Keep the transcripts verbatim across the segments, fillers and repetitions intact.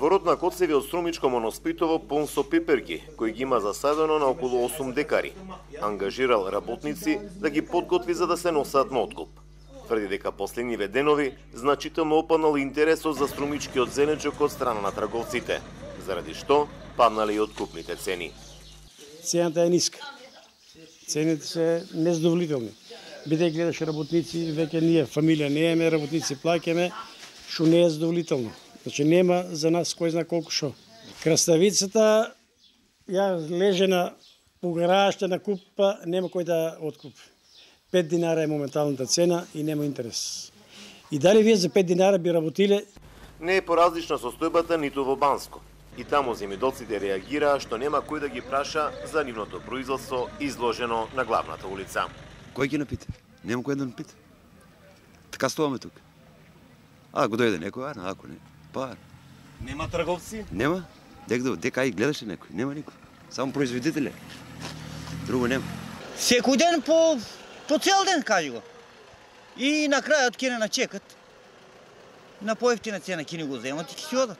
Дворот на Коцеви од Струмичко Моноспитово полн со пиперки, кои ги има засадено на околу осум декари. Ангажирал работници да ги подготви за да се носат на откуп. Тврди дека последниве денови значително опаднал интересот за струмичкиот зеленчук од страна на трговците, заради што паднале и откупните цени. Цената е ниска. Цените се незадоволителни. Бидејќи гледаш работници, веќе ние фамилија не еме работници, плаќаме, што не е задоволително. Значи нема за нас кој знае колку шо. Краставицата ја леже на погарајаште на купа, нема кој да откупи. пет динара е моменталната цена и нема интерес. И дали вие за пет динара би работиле? Не е поразлична состојбата ниту во Банско. И таму земјоделците реагираа што нема кој да ги праша за нивното производство изложено на главната улица. Кој ги напита? Нема кој да напита. Така стоаме тук. А, го дојде некој, а, ако не. Па. Нема трговци? Нема. Дека дека и гледаше некој, нема никој. Само производителе. Друго нема. Секој ден по по цел ден, кажи го. И на крајот ќе не чекат. На поевтина цена ќе ни го земат и ќе си одат.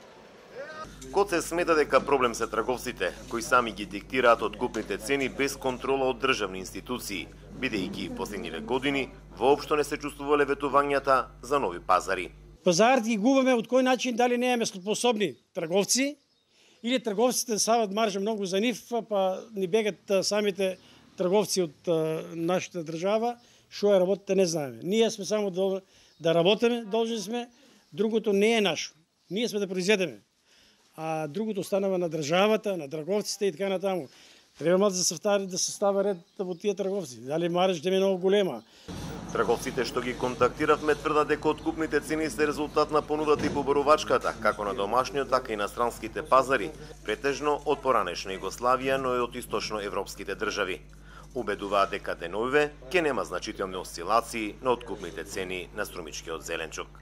Коце смета дека проблем се трговците, кои сами ги диктираат откупните цени без контрола од државни институции, бидејќи последниве години воопшто не се чувствувале ветувањата за нови пазари. Пазарите ги губаме од кој начин, дали не еме способни трговци, или трговците сават маржа многу за нив, па ни бегат самите трговци од нашата држава, што е работата не знаеме. Ние сме само да работиме, должни сме, другото не е нашо. Ние сме да произведеме. А другото останава на државата, на трговците и така натаму. Треба малку да се втари да се става ред во тие трговци. Дали маржата е многу голема. Трговците што ги контактиравме тврдат дека откупните цени се резултат на понудата и поборувачката, како на домашниот, така и на странските пазари, претежно од поранешна Југославија, но и од источноевропските држави. Убедуваат дека деновиве ќе нема значителни осцилации на откупните цени на струмичкиот зеленчук.